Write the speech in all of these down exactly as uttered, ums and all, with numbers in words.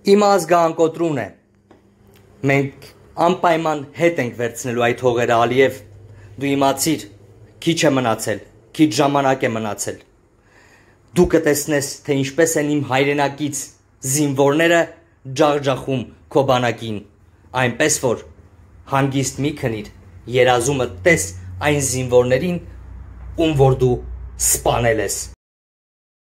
Իմ ազգանկոտրուն է, մենք անպայման հետ ենք վերցնելու այդ հողերը Ալիև, դու իմացիր, քիչ է մնացել, քիչ ժամանակ է մնացել, դու կտեսնես, թե ինչպես են իմ հայրենակից զինվորները ջախջախում քո բանակին, այնպես որ հանգիստ մի քնիր, երազումը տես այն զինվորներին, ում որ դու սպանել ես։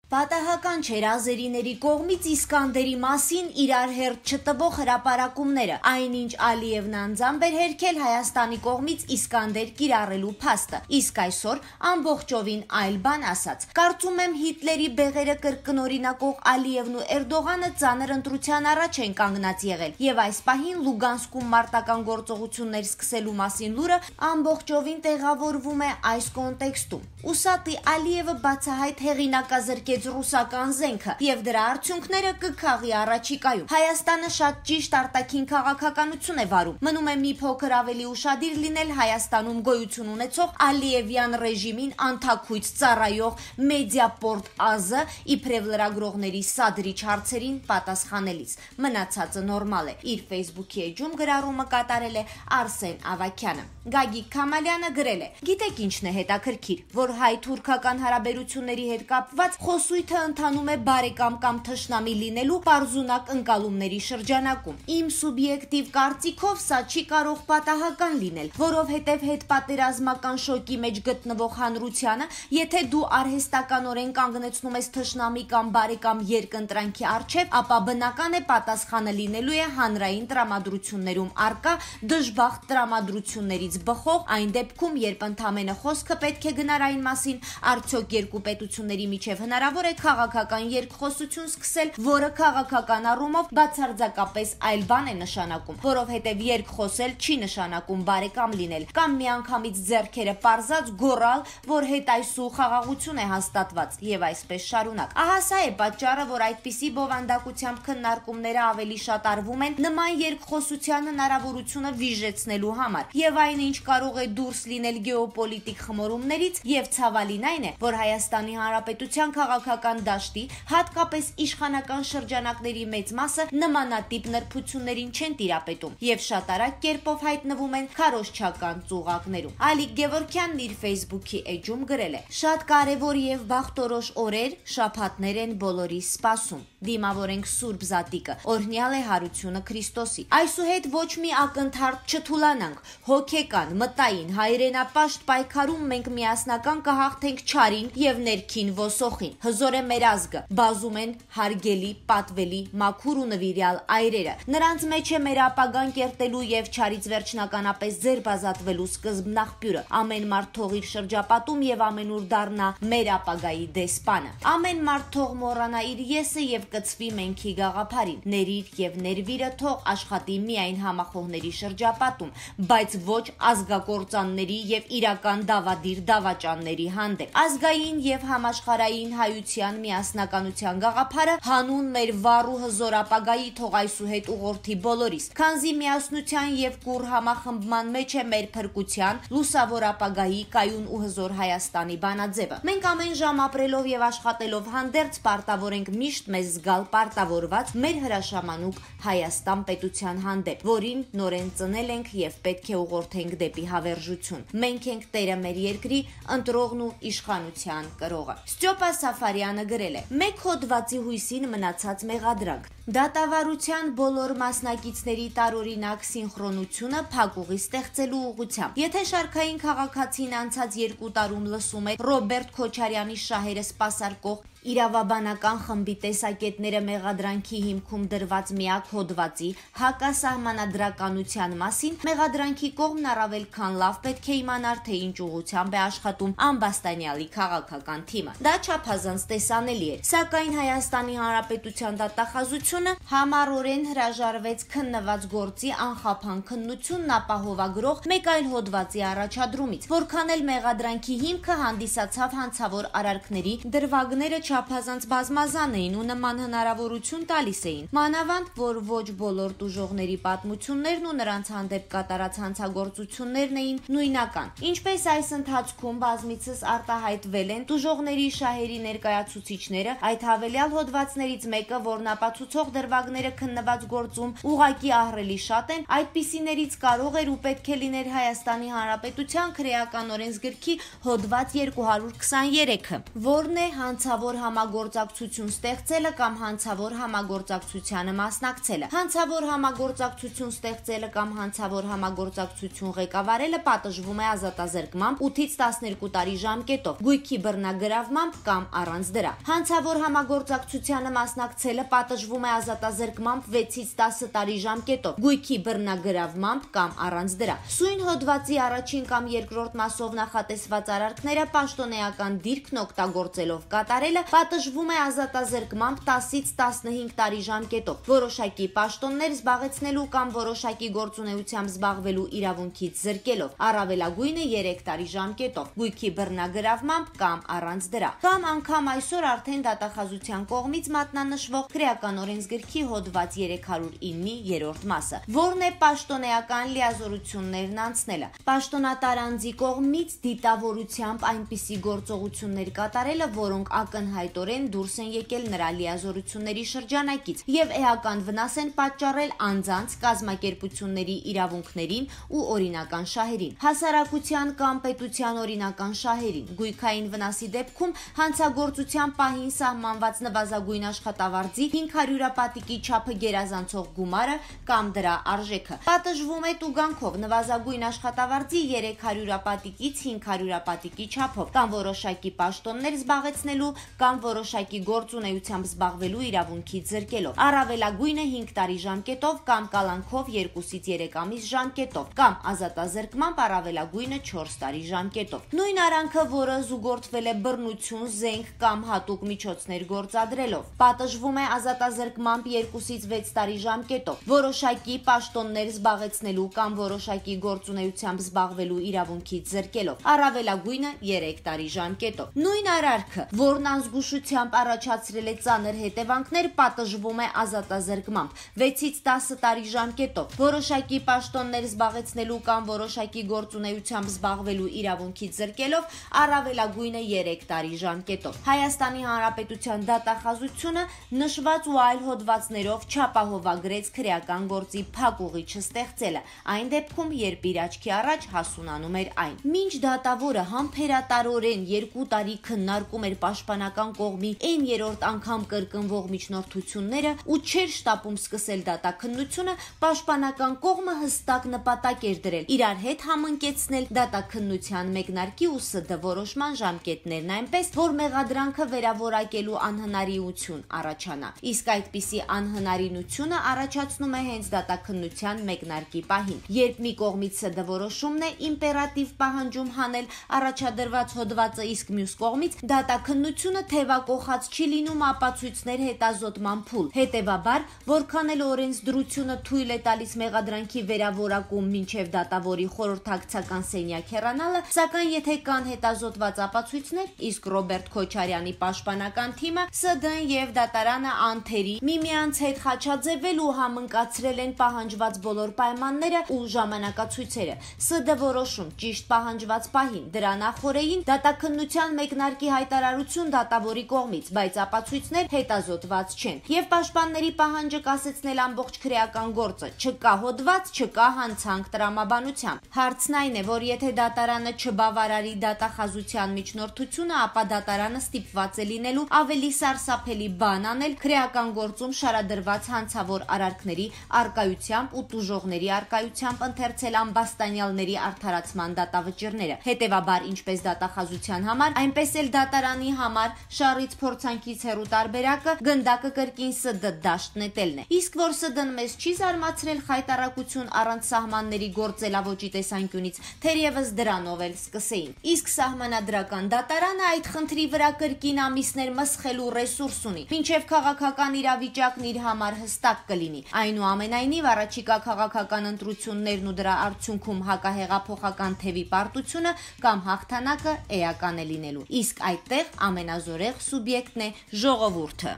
Պատահական չէր ազերիների կողմից Իսկանդերի մասին իրար հերթ չտվող հրապարակումները, այնինչ Ալիևն անձամբ էր հերքել Հայաստանի կողմից Իսկանդեր կիրառելու փաստը, իսկ այսօր ամբողջովին այլ բան ասաց։ Կարծում եմ Հիտլերի բեղերը կրկնօրինակող Ալիևն ու Էրդողանը ծանր ընտրության առաջ են կանգնած եղել, եւ այս պահին Լուգանսկում մարտական գործողություններ սկսելու մասին լուրը ամբողջովին տեղավորվում է այս կոնտեքստում։ Ուսատի Ալիևը բացահայտ հեղինակազրկեց ռուսական զենքը եւ դրա արդյունքները կքաղի առաջիկայում։ Հայաստանը շատ ճիշտ արտաքին քաղաքականություն է վարում։ Մնում է մի փոքր ավելի ուշադիր լինել Հայաստանում գոյություն ունեցող Ալիևյան ռեժիմին անթաքույց ծառայող Մեդիապորտ ԱԶ իբրև լրագրողների սադրիչ հարցերին պատասխանելիս։ Մնացածը նորմալ է։ Իր Facebook-ի էջում գրառումը կատարել է Արսեն Ավագյանը։ Գագիկ Քամալյանը գրել է. Գիտեք ինչն է հետաքրքիր, որ հայ-թուրքական հարաբերությունների հետ կապված խոսույթը ընթանում է բարեկամ կամ թշնամի լինելու պարզունակ ընկալումների շրջանակում։ Իմ սուբյեկտիվ կարծիքով սա չի կարող պատահական լինել, որովհետև հետպատերազմական շոկի մեջ գտնվող հանրությանը, եթե դու արհեստականորեն կանգնեցնում ես թշնամի կամ բարեկամ երկընտրանքի առջև, ապա բնական է պատասխանը լինելու է հանրային տրամադրություններում առկա դժբախտ տրամադրություններից բխող, այն դեպքում, երբ ընդամենը խոսքը պետք է գնար այն մասին, արդյոք երկու պետությունների միջև հնարավոր է քաղաքական երկխոսություն սկսել, որը քաղաքական առումով բացարձակապես այլ բան է նշանակում, որովհետև երկխոսել չի նշանակում բարեկամ լինել, կամ միանգամից ձեռքերը պարզած գոռալ, որ հետայսու խաղաղություն է հաստատված, եւ այսպես շարունակ։ Ահա սա է պատճառը, որ այդպիսի բովանդակությամբ քննարկումները ավելի շատ արվում են նման երկխոսության հնարավորությունը վիժեցնելու համար, եւ այնինչ կարող է դուրս լինել գեոպոլիտիկ խմորումներից, եւ ցավալին այն է, որ Հայաստանի Հանրապետության քաղաքական դաշտի, հատկապես իշխանական շրջանակների մեծ մասը նմանատիպ նրբություններին չեն տիրապետում եւ շատ արագ կերպով հայտնվում են քարոզչական ծուղակներում։ Ալիկ Գևորգյանն իր Facebook-ի էջում գրել է. Շատ կարևոր եւ բախտորոշ օրեր, շաբաթներ են բոլորի սպասում։ Դիմավորենք Սուրբ Զատիկը, օրհնյալ է հարությունը Քրիստոսի։ Այսուհետ ոչ մի ակնթարթ չթուլանանք, հոգեկան, մտային, հայրենապաշտ պայքարում մենք միասնական կհաղթենք չարին եւ ներքին ոսոխին։ Հզոր է մեր ազգը, բազում են հարգելի, պատվելի, մաքուր ու նվիրյալ այրերը։ Նրանց մեջ է մեր ապագան կերտելու եւ չարից վերջնականապես ձերբազատվելու սկզբնաղբյուրը։ Ամեն մարդ թող իր շրջապատում եւ ամենուր դառնա մեր ապագայի դեսպանը։ Ամեն մարդ թող մոռանա իր եսը եւ կծվի մենքի գաղափարին։ Ներիր եւ ներվիրը թող աշխատի միայն համախոհների շրջապատում, բայց ոչ ազգակործանների եւ իրական դավադիր դավաճանների հանդեպ։ Ազգային եւ համաշխարհային հայության միասնականության գաղափարը հանուն մեր վառ ու հզոր ապագայի թող այսուհետ ուղղորդի բոլորիս, քանզի միասնության եւ կուռ համախմբման մեջ է մեր փրկության, լուսավոր ապագայի, կայուն ու հզոր Հայաստանի բանաձևը։ Մենք ամեն ժամ ապրելով եւ աշխատելով հանդերձ պարտավոր ենք միշտ մեզ զգալ պարտավորված մեր հրաշամանուկ Հայաստան պետության հանդեպ, որին նորեն ծնել ենք եւ պետք է ուղղորդենք դեպի հավերժություն։ Մենք ենք տերը մեր երկրի, ընտրողն ու իշխանության կրողը։ Ստյոպա Սաֆարյանը գրել է. Մեկ հոդվածի հույսին մնացած մեղադրանք։ Դատավարության բոլոր մասնակիցների տարօրինակ սինխրոնությունը փակուղի ստեղծելու ուղղությամբ։ Եթե շարքային քաղաքացին անցած երկու տարում լսում է Ռոբերտ Քոչարյանի շահերը սպասարկող իրավաբանական խմբի տեսակետները մեղադրանքի հիմքում դրված միակ հոդվածի հակասահմանադրականության մասին, մեղադրանքի կողմն առավել քան լավ պետք է իմանար, թե ինչ ուղղությամբ է աշխատում ամբաստանյալի քաղաքական թիմը։ Դա չափազանց տեսանելի էր, սակայն Հայաստանի Հանրապետության դատախազությունը համառորեն հրաժարվեց քննված գործի անխափան քննությունն ապահովագրող մեկ այլ հոդվածի առաջադրումից, որքան էլ մեղադրանքի հիմքը հանդիսացավ հանցավոր արարքների դրվագները չափազանց բազմազան էին ու նման հնարավորություն տալիս էին, մանավանդ, որ ոչ բոլոր տուժողների պատմություններն ու նրանց հանդեպ կատարած հանցագործություններն էին նույնական։ Ինչպես այս ընթացքում բազմիցս արտահայտվել են տուժողների շահերի ներկայացուցիչները, այդ հավելյալ հոդվածներից մեկը, որն ապացուցող դրվագները քննված գործում ուղղակի ահռելի շատ են, այդպիսիներից կարող էր ու պետք է լիներ Հայաստանի Հանրապետության քրեական օրենսգրքի հոդված երկու հարյուր քսաներեքը, որն է հանցավոր համագործակցություն ստեղծելը կամ հանցավոր համագործակցությանը մասնակցելը։ Հանցավոր համագործակցություն ստեղծելը կամ հանցավոր համագործակցություն ղեկավարելը պատժվում է ազատազրկմամբ ութից տասներկու տարի ժամկետով, գույքի բռնագրավմամբ կամ առանց դրա։ Հանցավոր համագործակցությանը մասնակցելը պատժվում է ազատազրկմամբ վեցից տասը տարի ժամկետով, գույքի բռնագրավմամբ կամ առանց դրա։ Սույն հոդվածի առաջին կամ երկրորդ մասով նախատեսված արարքները պաշտոնեական դիրքն օգտագործելով կատարելը պատժվում է ազատազրկմամբ տասից տասնհինգ տարի ժամկետով, որոշակի պաշտոններ զբաղեցնելու կամ որոշակի գործունեությամբ զբաղվելու իրավունքից զրկելով, առավելագույնը երեք տարի ժամկետով, գույքի բռնագրավմամբ կամ առանց դրա, կամ անգամ այսօր արդեն դատախազության կողմից մատնանշվող քրեական օրենսգրքի հոդված երեք հարյուր իննի երրորդ մասը, որն է պաշտոնեական լիազորություններն անցնելը։ Պաշտոնատար անձի կողմից դիտավորությամբ այնպիսի գործողություններ կատարելը, որոնք ակնհայտորեն դուրս են եկել նրա լիազորությունների շրջանակից եւ էական վնաս են պատճառել անձանց, կազմակերպությունների իրավունքներին ու օրինական շահերին, հասարակության կամ պետության օրինական շահերին, գույքային վնասի դեպքում հանցագործության պահին սահմանված նվազագույն աշխատավարձի հինգ հարյուրապատիկի չափը գերազանցող գումարը կամ դրա արժեքը։ Պատժվում է տուգանքով նվազագույն աշխատավարձի երեք հարյուրապատիկից հինգ հարյուրապատիկի չափով կամ որոշակի պաշտոններ զբաղեցնելու կամ որոշակի գործունեությամբ զբաղվելու իրավունքից զրկելով, առավելագույնը հինգ տարի ժամկետով կամ կալանքով երկուսից երեք ամիս ժամկետով կամ ազատազրկմամբ առավելագույնը չորս տարի ժամկետով։ Նույն արանքը, որը զուգորդվել է բռնություն, զենք կամ հատուկ միջոցներ գործադրելով, պատժվում է ազատազրկմամբ երկուսից վեց տարի ժամկետով, որոշակի պաշտոններ զբաղեցնելու կամ որոշակի գործունեությամբ զբաղվելու իրավունքից զրկելով, առավելագույնը երեք տարի ժամկետով։ Նույն արարքը, որն անզգուշությամբ առաջացրել է ծանր հետևանքներ, պատժվում է ազատազրկմամբ վեցից տասը տարի ժամկետով, որոշակի պաշտոններ զբաղեցնելու կամ որոշակի գործունեությամբ զբաղվելու իրավունքից զրկելով, առավելագույնը երեք տարի ժամկետով։ Հայաստանի Հանրապետության դատախազությունը նշված ու այլ հոդվածներով չապահովագրեց քրեական գործի փակ ուղիչը ստեղծելը, այն դեպքում, երբ իր աչքի առաջ հասունանում էր այն։ Մինչ դատավորը համբերատարորեն երկու տարի քննարկում էր պաշտպանական կողմի այն երրորդ անգամ կրկնվող միջնորդությունները ու չէր շտապում սկսել դատաքննությունը, պաշտպանական կողմը հստակ նպատակ էր դրել իրար հետ համընկեցնել դատաքննության մեկնարկի ու ՍԴ որոշման ժամկետներն այնպես, որ մեղադրանքը վերավորակելու անհնարինություն առաջանա։ Իսկ այդպիսի անհնարինությունը առաջացնում է հենց դատաքննության մեկնարկի պահին, երբ մի կողմից ՍԴ որոշումն է իմպերատիվ պահանջում հանել առաջադրված հոդվածը, իսկ մյուս կողմից դատաքննությունը թևակողած չի լինում ապացույցներ հետազոտման փուլ։ Հետևաբար, որքան էլ օրենսդրությունը թույլ է տալիս մեղադրանքի վերավորակում մինչև դատավորի խորհրդակցական սենյակ հեռանալը, սակայն եթե կան հետազոտված ապացույցներ, իսկ Ռոբերտ Քոչարյանի պաշտպանական թիմը, ՍԴ-ն եւ դատարանը անթերի միմյանց հետ խաչաձևել ու համընկացրել են պահանջված բոլոր պայմանները ու ժամանակացույցերը։ ՍԴ որոշում ճիշտ պահանջված պահին, դրա նախօրեին դատաքննության մեկնարկի հայտարարություն դատավորի կողմից, բայց ապացույցներ հետազոտված չեն։ Եվ պաշտպանների պահանջը կասեցնել ամբողջ քրեական գործը, չկա հոդված, չկա հանցանք տրամաբանությամբ։ Հարցն այն է, որ եթե դատարանը չբավարարի դատախազության միջնորդությունը, ապա դատարանը ստիպված է լինելու ավելի սարսափելի բան անել քրեական գործում շարադրված հանցավոր արարքների արկայությամբ ու տուժողների արկայությամբ ընթերցել ամբաստանյալների արդարացման դատավճիռները։ Հետևաբար, ինչպես դատախազության համար, այնպես էլ դատարանի համար շարից փորձանքից հեռու տարբերակը գնդակը կրկին ՍԴ դաշտ նետելն է։ Իսկ որ ՍԴ-ն մեզ չի զարմացրել խայտարակություն առանց սահմանների գործելավոճի տեսանկյունից, թերևս դրանով էլ սկսեին։ Իսկ սահմանադրական դատարանը այդ խնդրի վրա կրկին ամիսներ մսխելու ռեսուրս ունի, մինչև քաղաքական իրավիճակն իր համար հստակ կլինի։ Այնուամենայնիվ, առաջիկա քաղաքական ընտրություններն ու դրա արդյունքում հակահեղափոխական թևի պարտությունը կամ հաղթանակը էական է լինելու։ Իսկ այդտեղ ամենազոր անհաջորեղ սուբյեկտն է ժողովուրդը։